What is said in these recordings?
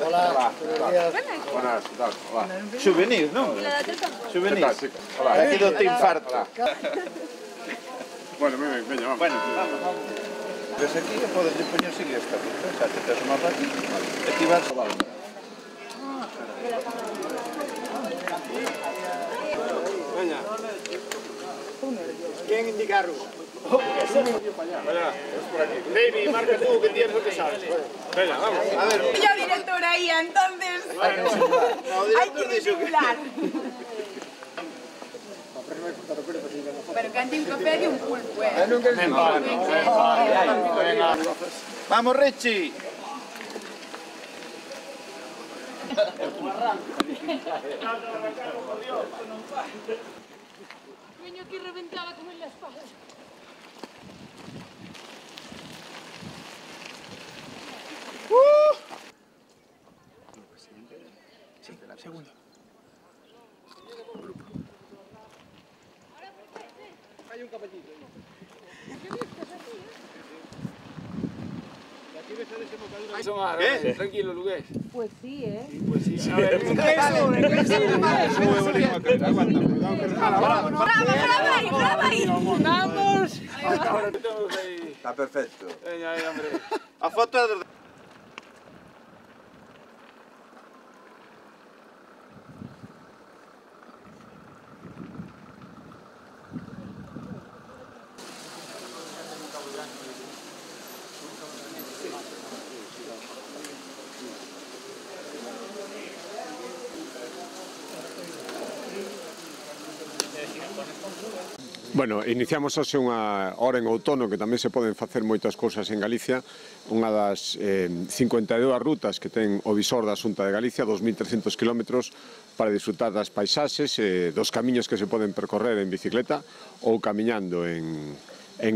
Hola. Buenas, ¿qué tal? Hola. Souvenirs, non? Souvenirs. Hola. Aquí do te infarto. Bueno, veña, vamos. Bueno, vamos. Ves aquí e podes poñer seguir esta ruta. Xa te tes o mapa aquí. Aquí vas a Valme. Veña. ¿Quién indica a ruta? Vaya, es por aquí. Baby, marca tú que tienes lo que sabes. Venga, vamos. A ver. Yo directora ahí, entonces hay que disimular. Pero que ante un café de un pulpo, Vamos, Richie. Vengo aquí reventada como en la espalda. Segundo. Hay un caballito ¿Qué? Tranquilo, Lugués. Pues sí, ¿eh? Pues sí, a ver. ¡Brava ahí! ¡Vamos! Está perfecto. Veña, aí, hombre. A foto é do... Bueno, iniciamos hoxe unha hora en outono que tamén se poden facer moitas cousas en Galicia. Unha das 52 rutas que ten o visor da Xunta de Galicia, 2.300 kilómetros, para disfrutar das paisaxes, dos camiños que se poden percorrer en bicicleta ou camiñando en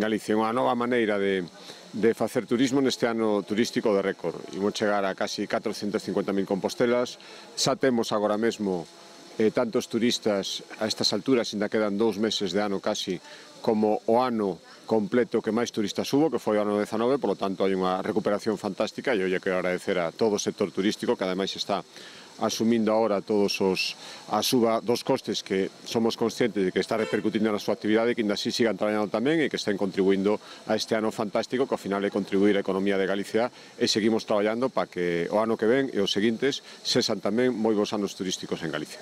Galicia. Unha nova maneira de facer turismo neste ano turístico de récord. Imos chegar a casi 450.000 compostelas. Xa temos agora mesmo tantos turistas a estas alturas, ainda quedan 2 meses de ano casi, como o ano completo que máis turistas hubo, que foi o ano 19, polo tanto hai unha recuperación fantástica e eu lle quero agradecer a todo o sector turístico que ademais está asumindo agora todos a suba dos costes que somos conscientes de que está repercutindo na súa actividade e que ainda así sigan traballando tamén e que estén contribuindo a este ano fantástico que ao final é contribuir á economía de Galicia e seguimos traballando para que o ano que ven e os seguintes sexan tamén moi bons anos turísticos en Galicia.